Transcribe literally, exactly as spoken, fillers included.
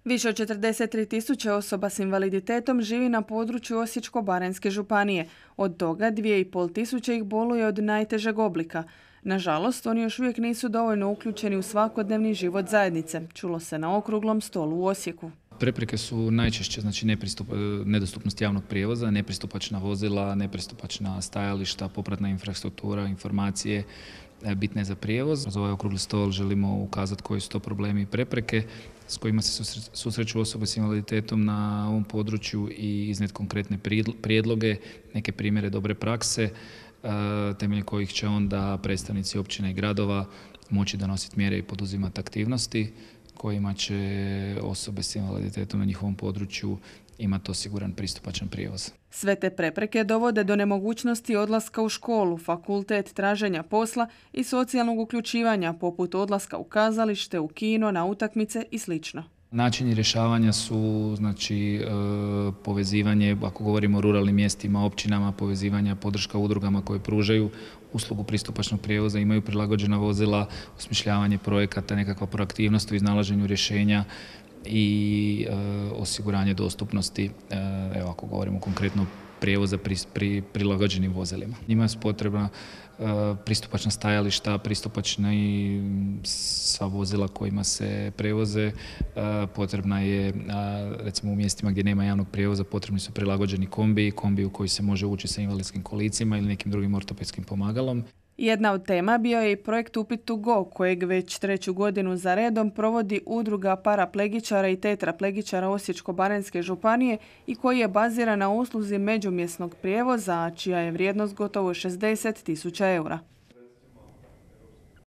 Više od četrdeset tri tisuće osoba s invaliditetom živi na području Osječko-baranjske županije. Od toga dvije i pol tisuće ih boluje od najtežeg oblika. Nažalost, oni još uvijek nisu dovoljno uključeni u svakodnevni život zajednice, čulo se na okruglom stolu u Osijeku. Prepreke su najčešće znači nepristup, nedostupnost javnog prijevoza, nepristupačna vozila, nepristupačna stajališta, popratna infrastruktura, informacije bitne za prijevoz. Za ovaj okrugli stol želimo ukazati koji su to problemi i prepreke s kojima se susreću osobe s invaliditetom na ovom području i iznijeti konkretne prijedloge, neke primjere dobre prakse, temeljem kojih će onda predstavnici općina i gradova moći donositi mjere i poduzimati aktivnosti kojima će osobe s invaliditetom na njihovom području imati osiguran pristupačan prijevoz. Sve te prepreke dovode do nemogućnosti odlaska u školu, fakultet, traženja posla i socijalnog uključivanja, poput odlaska u kazalište, u kino, na utakmice i sl. Načini rješavanja su znači, povezivanje, ako govorimo o ruralnim mjestima, općinama, povezivanja, podrška udrugama koje pružaju uslugu pristupačnog prijevoza, imaju prilagođena vozila, osmišljavanje projekata, nekakva proaktivnost u iznalaženju rješenja i e, osiguranje dostupnosti, e, evo ako govorimo konkretno prijevoza pri, pri prilagođenim vozilima. Njima su potrebna e, pristupačna stajališta, pristupačna i sva vozila kojima se prevoze. E, potrebna je, a, recimo u mjestima gdje nema javnog prijevoza, potrebni su prilagođeni kombi, kombi u koji se može ući sa invalidskim kolicima ili nekim drugim ortopedskim pomagalom. Jedna od tema bio je i projekt Upit to go, kojeg već treću godinu za redom provodi udruga paraplegičara i tetraplegičara Osječko-baranjske županije i koji je baziran na usluzi međumjesnog prijevoza, čija je vrijednost gotovo šezdeset tisuća eura.